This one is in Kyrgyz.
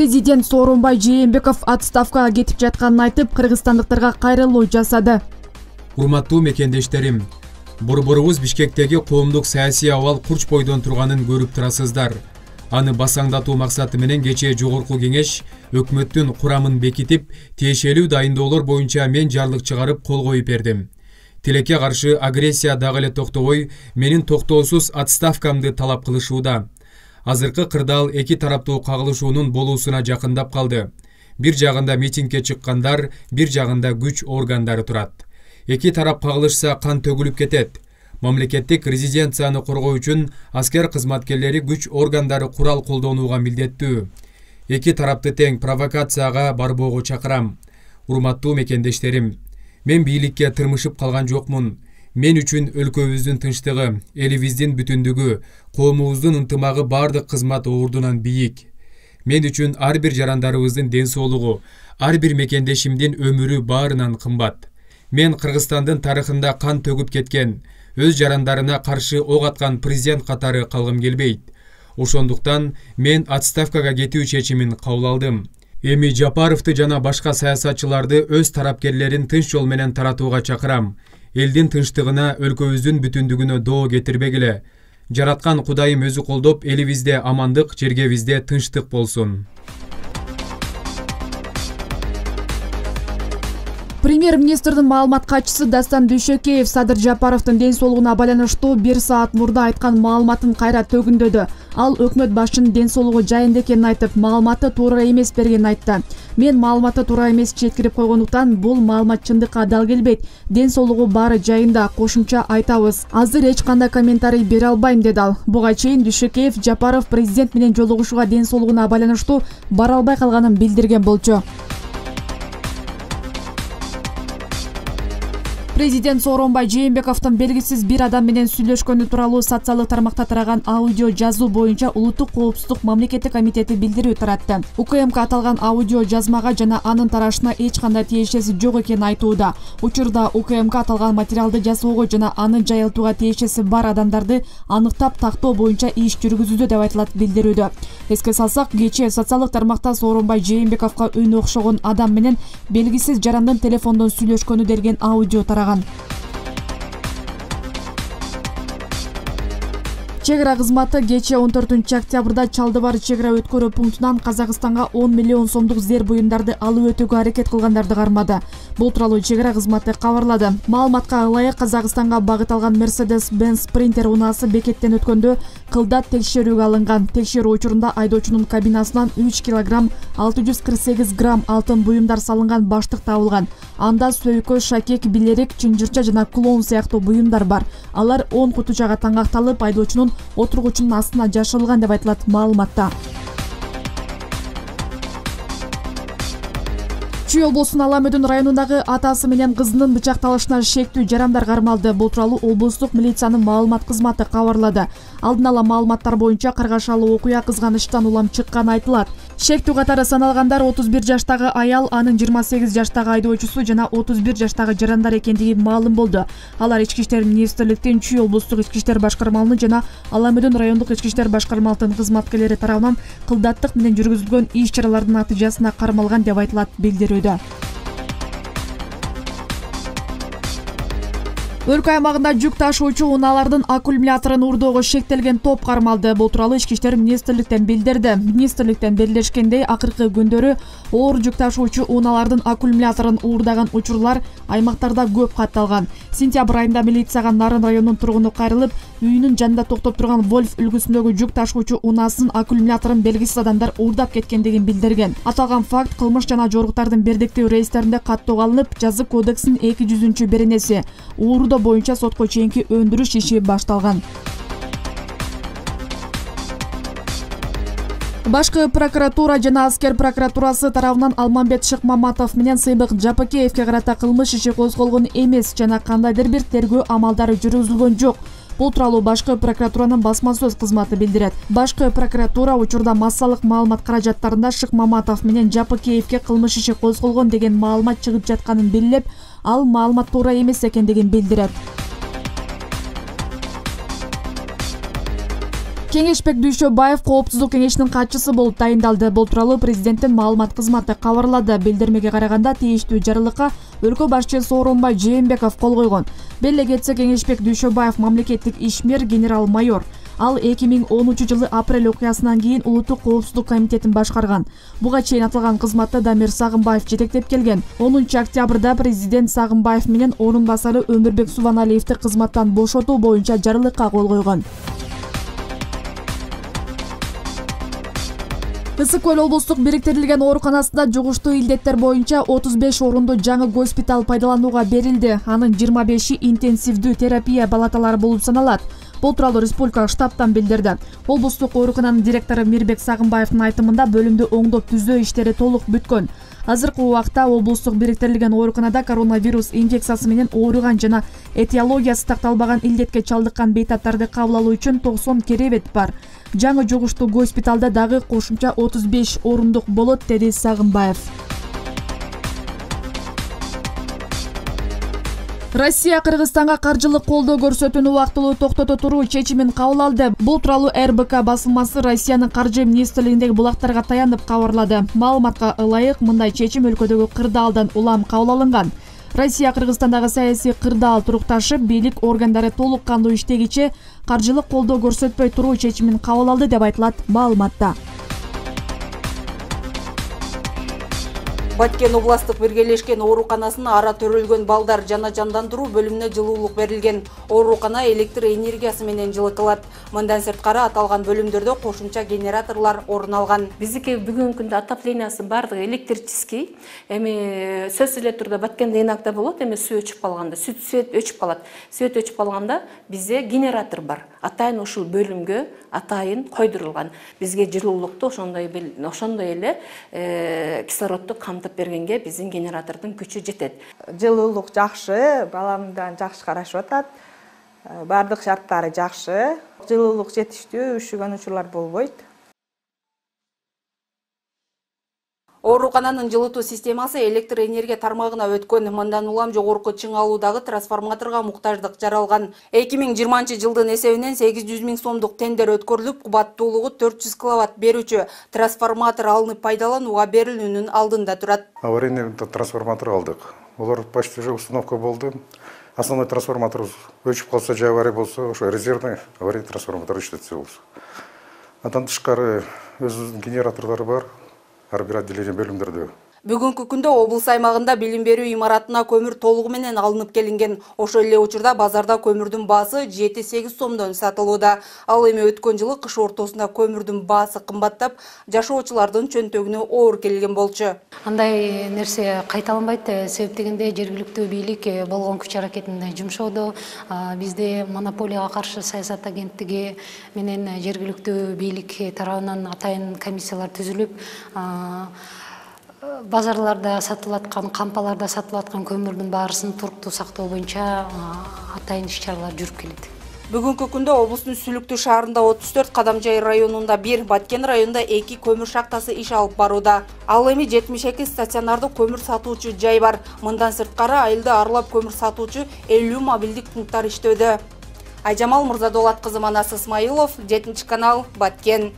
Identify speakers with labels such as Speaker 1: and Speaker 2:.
Speaker 1: Президент Сооронбай Жээнбеков отставкага кетип жатканын айтып, кыргызстандыктарга кайрылуу жасады.
Speaker 2: Урматтуу мекендештерим, борборубуз Бишкектеги коомдук саясий абал курч бойдон турганын көрүп турасыздар. Аны басаңдатуу максаты менен кечээ жогорку кеңеш өкмөттүн курамын бекитип, тиешелүү дайындоолор боюнча мен жарлык чыгарып кол коюп бердим. Тилекке каршы агрессия дагы эле токтобой, менин токтоосуз отставкамды талап кылышууда. Азыркы кырдаал эки тараптуу кагылышуунун болуусуна жакындап калды. Бир жагында митингге чыккандар, бир жагында күч органдары турат. Эки тарап кагылышса кан төгүлүп кетет. Мамлекеттик резиденцияны коргоо үчүн аскер кызматкерлери күч органдары курал колдонууга милдеттүү. Эки тарапты тең провокацияга барбоого чакырам. Урматтуу мекендештерим, мен бийликке тырмышып калган жокмун. Мен үчүн өлкөбүздүн тынчтыгы, элибиздин бүтүндүгү, коомубуздун ынтымагы бардык кызмат ордунан бийик. Мен үчүн ар бир жарандарыбыздын ден соолугу, ар бир мекендешимдин өмүрү баарынан кымбат. Мен Кыргызстандын тарыхында кан төгүп кеткен, өз жарандарына каршы ок аткан президент катары калгым келбейт. Ошондуктан мен отставкага кетүү чечимин кабыл алдым. Эми Жапаровду жана башка саясатчыларды өз тарапкерлерин тынч жол менен таратууга чакырам. Элдин тынчтыгына, өлкөбүздүн бүтүндүгүнө доо кетирбегиле. Жараткан Кудайым өзү колдоп, элибизде амандык, жергебизде тынчтык болсун.
Speaker 1: Премьер-министрдин маалымат катчысы Дастан Дүйшөкеев Садыр Жапаровдун ден соолугуна байланыштуу 1 саат мурда айткан маалыматын кайра төгүндөдү. Ал өкмөт башчынын ден соолугу жайында экенин айтып, маалыматты туура эмес бергенин айтты. Мен маалыматты туура эмес жеткирип койгондуктан бул маалымат чындыкка дал келбейт. Ден соолугу баары жайында, кошумча айтабыз. Азыр эч кандай комментарий бере албайм, деди ал. Буга чейин Дүйшөкеев Жапаров президент менен жолугушууга ден соолугуна байланыштуу бара албай калганын билдирген болчу. Президент Сооронбай Жээнбековдун белгисиз бир адам менен сүйлөшкөнү тууралуу социалдык тармакта тараган аудио жазуу боюнча Улуттук коопсуздук мамлекеттик комитети билдирүү таратты. УКМК аталган аудио жазмага жана анын тарашына эч кандай тиешеси жок экенин айтууда. Учурда УКМК аталган материалды жасоого жана аны жайылтууга тиешеси бар адамдарды аныктап тактоо боюнча иш жүргүзүүдө деп айтылат билдирүүдө. Эске салсак, кечээ социалдык тармакта Сооронбай Жээнбековго үн окшогон адам менен белгисиз жарандын телефондон сүйлөшкөнү делген аудио тараган. Чегара кызматы кечээ 14-октябрда Чалдыбар чегара өткөрүү пунктунан Казакстанга 10 миллион сомдук зер буюмдарды алып өтүүгө аракет кылгандарды кармады. Бул тууралуу чегара кызматы кабарлады. Маалыматка ылайык, Казакстанга багыт алган Mercedes-Benz Sprinter унаасы бекеттен өткөндө кылдат текшерүүгө алынган. Текшерүү учурунда айдоочунун кабинасынан 3 кг 648 грамм алтын буюмдар салынган баштык табылган. Анда сөйкө, шакек, билерик, чынжырча жана клоун сыяктуу буюмдар бар. Алар 10 кутучага таңакталып, айдоочунун отургучунун астына жашырылган деп айтылат маалыматта. Чүй облусунун Аламөдүн районундагы атасы менен кызынын бычакталышына шектүү жарандар кармалды. Бул тууралуу облустук милициянын маалымат кызматы кабарлады. Алдын ала маалыматтар боюнча каргашалуу окуя кызганычтан улам чыкканы айтылат. Шектүү катары саналгандар 31 жаштагы аял, анын 28 жаштагы айдоочусу жана 31 жаштагы жарандар экендиги маалым болду. Алар Ички иштер министрликтин Чүй облустук ички иштер башкармалыгынын жана Аламөдүн райондук ички иштер башкармалыгынын кызматкерлери тарабынан кылдаттык менен жүргүзүлгөн иш-чаралардын натыйжасына кармалган деп айтылат билдирүүдө. Өлкө аймагында жүк ташуучу унаалардын аккумуляторун уурдоого шектелген топ кармалды. Бул тууралуу Ички иштер министрликтен билдирди. Министрликтен белгилешкендей, акыркы күндөрү оор жүк ташуучу унаалардын аккумуляторун уурдаган учурлар аймактарда көп катталган. Сентябрь айында милицияга Нарын районунун тургуну кайрылып, үйүнүн жанында токтоп турган Вольф үлгүсүндөгү жүк ташуучу унаасын аккумуляторун белгисиз адамдар уурдап кеткендигин билдирген. Аталган факт кылмыш жана жоруктардын бирдиктүү рейстеринде каттоого алынып, жазык кодексинин 200-беренеси уурдоо боюнча сотко чейинки өндүрүш иши башталган. Башкы прокуратура жана аскер прокуратурасы тарабынан Алмамбет Шыкмаматов менен Сыйбык Жапакеевке карата кылмыш иши козголгон эмес жана кандайдыр бир тергөө амалдары жүргүзүлгөн жок. Бул тууралуу Башкы прокуратуранын басма сөз кызматы билдирет. Башкы прокуратура учурда массалык маалымат каражаттарында Шыкмаматов менен Жапакеевке кылмыш иши козголгон деген маалымат чыгып жатканын белгилеп, ал маалымат туура эмес экендигин билдирет. Кеңешбек Дүйшөбаев Коопсуздук кеңешинин катчысы болуп тайындалды. Бул тууралуу президенттин маалымат кызматы кабарлады. Билдирмеге караганда тийиштүү жарлыкка өлкө башчысы Сооронбай Жээнбеков кол койгон. Беле кетсе, Кеңешбек Дүйшөбаев мамлекеттик ишмер, генерал-майор. Ал 2010 апрель окуясынан кийин Улуттук коопсуздук комитетин башкарган. Буга чейин аталган кызматты Дамир Сагынбаев жетектеп келген. 10 октябрда президент Сагынбаев менен орун басары Өмүрбек Субаналиевди кызматтан бошотуу боюнча жарлыкка кол койгон. Ысык Көл облустук бириктирилген ооруканасында жугуштуу илдеттер боюнча 35 орундуу жаңы госпиталь пайдаланууга берилди. Анын 25и интенсивдүү терапия палаталары болуп саналат. Бул тууралуу республикалык штабтан билдирди. Облустук оорукананын директору Мирбек Сагынбаевдин айтымында бөлүмдү оңдоп түзөө иштери толук бүткөн. Азыркы убакта облустук бириктирилген ооруканада коронавирус инфекциясы менен ооруган жана этиологиясы такталбаган илдетке чалдыккан бейтаптарды кабыл алуу үчүн 90 керебет бар. Жаңы жугуштуу госпиталда дагы кошумча 35 орундук болот, деди Сагынбаев. Россия Кыргызстанга каржылык колдоо көрсөтүүнү убактылуу токтото туруу чечимин кабыл алды. Бул тууралуу РБК басылмасы Россиянын каржы министрлигиндеги булактарга таянып кабарлады. Маалыматка ылайык, мындай чечим өлкөдөгү кырдаалдан улам кабыл алынган. Россия Кыргызстандагы саясий кырдаал турукташып, бийлик органдары толук кандуу иштегиче каржылык колдоо көрсөтпөй туруу чечимин кабыл алды деп айтылат маалыматта.
Speaker 3: Баткен областык биргелешкен ооруканасына ара төрөлгөн балдар жана жандандыруу бөлүмүнө жылуулук берилген. Оорукана электр энергиясы менен жылытылат. Мындан сырткары аталган бөлүмдөрдө кошумча генераторлор орун алган.
Speaker 4: Биздики бүгүнкү күндө отоплениясы бардыгы электрический. Эми сөзсүз эле турда Баткенде иногда болот, эми суу өчүп калганда, свет өчүп калат. Свет өчүп калганда бизде генератор бар. Атайын ушул бөлүмгө атайын койдурулган. Бизге жылуулукту ошондой эле кислородду камтып бергенге биздин генератордун күчү жетет.
Speaker 5: Жылуулук жакшы, баламдан жакшы карашып атат. Бардык шарттары жакшы. Жылуулук жетиштүү, üşүгөн учурлар болбойт.
Speaker 3: Оорукананын жылытуу системасы электр энергия тармагына өткөн. Мындан улам жогорку чың алуудагы трансформаторго муктаждык жаралган. 2020-жылдын эсебинен 800 000 сомдук тендер өткөрүлүп, кубаттуулугу 400 киловатт берүүчү трансформатор алынып пайдаланууга берилүүнүн алдында турат.
Speaker 6: Аварийный трансформатор алдык. Олар почти уже установка болду. Основной трансформатор өчүп калса же авария болсо, ошо резервный аварийный трансформатор иштетсе болсо. Андан тышкары өзүнүн генераторлору бар. Ар бир отделение бөлүмдөрдө.
Speaker 3: Бүгүнкү күндө облус аймагында билим берүү имаратына көмүр толугу менен алынып келинген. Ошол эле учурда базарда көмүрдүн баасы 7-8 сомдон сатылууда. Ал эми өткөн жылы кыш ортосунда көмүрдүн баасы кымбаттап, жашоочулардын чөнтөгүнө оор келген болчу.
Speaker 4: Андай нерсе кайталанбайт, себеп дегенде жергиликтүү бийлик болгон күч аракетин жумшоодо. Бизде монополияга каршы саясат агенттиги менен жергиликтүү бийлик тарабынан атайын комиссиялар түзүлүп, базарларда сатылып аткан, кампаларда сатылып аткан көмүрдүн баарысын туруктуу сактоо боюнча атайын иш-чаралар жүрүп келет.
Speaker 3: Бүгүнкү күндө облустун Сүлүктүү шаарында 34, Кадамжай районунда 1, Баткен районунда 2 көмүр шахтасы иш алып барууда. Ал эми 72 стационардык көмүр сатуучу жай бар. Мындан сырткары айылды аралап көмүр сатуучу 50 мобилдик пункттар иштөөдө. Айжамал Мырзадолат кызы, Манас Исмаилов, 7 канал, Баткен.